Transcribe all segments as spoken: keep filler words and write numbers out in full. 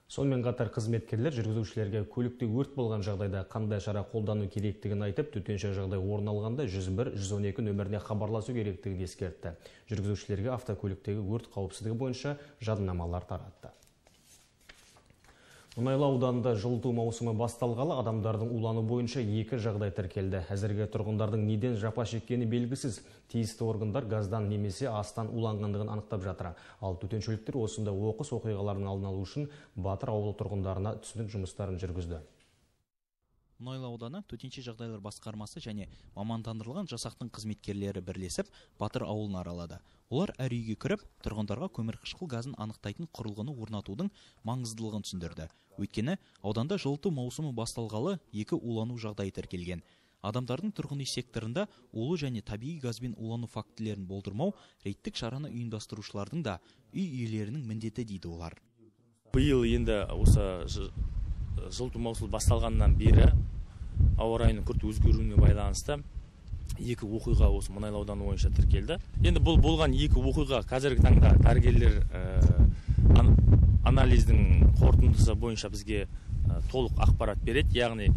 Сонымен қатар қызметкерлер жүргізушілерге көлікте өрт болған жағдайда қандай шара қолдану керектігін айтып, төтенше жағдай орын алғанда жүз бір жүз он екі нөміріне хабарласу керектігін ескертті. Жүргізушілерге автокөліктегі өрт қауіпсіздігі бойынша жадынамалар таратты. Мұнайлы ауданында жылыту маусымы басталғалы адамдардың улану бойынша екі жағдай тіркелді. Әзірге тұрғындардың неден жапа шеккені белгісіз. Тиісті органдар газдан немесе астан уланғандығын анықтап жатыр. Ал төтеншеліктер осында оқыс оқиғалардың алдын алу үшін Батыр ауылы тұрғындарына түсінік жұмыстарын жүргізді. Мұнайлы ауданы төтенше жағдайлар басқармасы және мамандандырылған жасақтың қызметкерлері бірлесіп Батыр ауылын аралады. Олар әр үйге кіріп, тұрғындарға көмірқышқыл газын анықтайтын құрылғыны орнатудың маңыздылығын түсіндірді. Өйткені ауданда жылыту маусымы басталғалы екі улану жағдайы тіркелген. Адамдардың тұрғын үй секторында улы және табиғи газбен улану фактілерін болдырмау рейдтік шараны ұйымдастырушылардың да үй иелерінің міндеті дейді олар. Биыл енді осы жылыту маусымы басталғаннан бері ауа райының күрт өзгеруіне байланысты екі оқиға осы Мұнайлы ауданы бойынша тіркелді. Енді бұл болған екі оқиға қазіргі таңда дәрігерлер анализдің қорытындысы бойынша бізге толық ақпарат береді. Яғни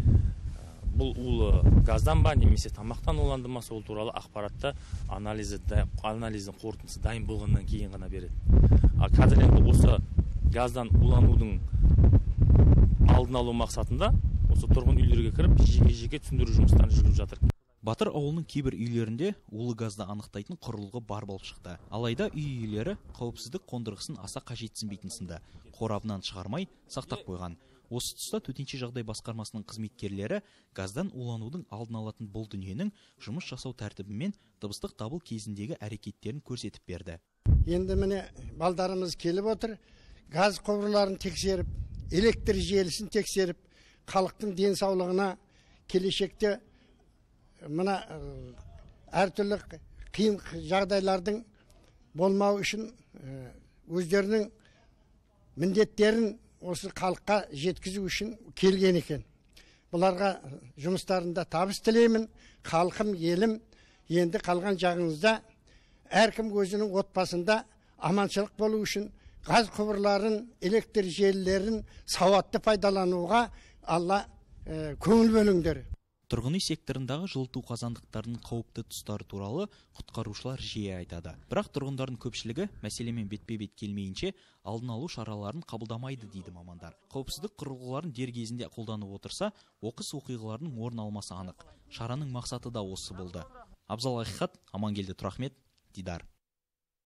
бұл улы газдан ба немесе тамақтан уланды ма, сол туралы ақпаратты анализдің қорытындысы дайын болғаннан кейін ғана береді. Қазір енді осы газдан уланудың алдын алу мақсатында осы тұрғын үйлерге кіріп жеке-жеке түсіндіру жұмыстарын жүргізіп жатыр. Батыр ауылының кейбір үйлерінде улы газды анықтайтын құрылғы бар болып шықты. Алайда үй иелері қауіпсіздік қондырғысын аса қажетсінбейтін сынды. Қорабынан шығармай сақтап қойған. Осы тұста төтенше жағдай басқармасының қызметкерлері газдан уланудың алдын алатын бұл дүниенің жұмыс жасау тәртібі мен дыбыстық дабыл кезіндегі әрекеттерін көрсетіп берді. Енді міне балдарымыз келіп отыр, газ құбырларын тексеріп, электр желісін тексеріп, халықтың денсаулығына келешекте мына әртүрлі қиын жағдайлардың болмау үшін өздерінің міндеттерін осы халыққа жеткізу үшін келген екен. Бұларға жұмыстарында табыс тілеймін. Халқым, елім, енді қалған жағыңызда әркім өзінің отбасында аманшылық болу үшін газ құбырларын, электр желілерін сауатты пайдалануға Алла көңіл бөліңдер. Тұрғын үй секторындағы жылыту қазандықтарының қауіпті тұстары туралы құтқарушылар жиі айтады. Бірақ тұрғындардың көпшілігі мәселемен бетпе-бет келмейінше алдын алу шараларын қабылдамайды дейді мамандар. Қауіпсіздік құрылғыларын дер кезінде қолданып отырса, оқыс оқиғалардың орын алмасы анық. Шараның мақсаты да осы болды. Абзал Ақиқат, Амангелді Тұрахмет, Дидар.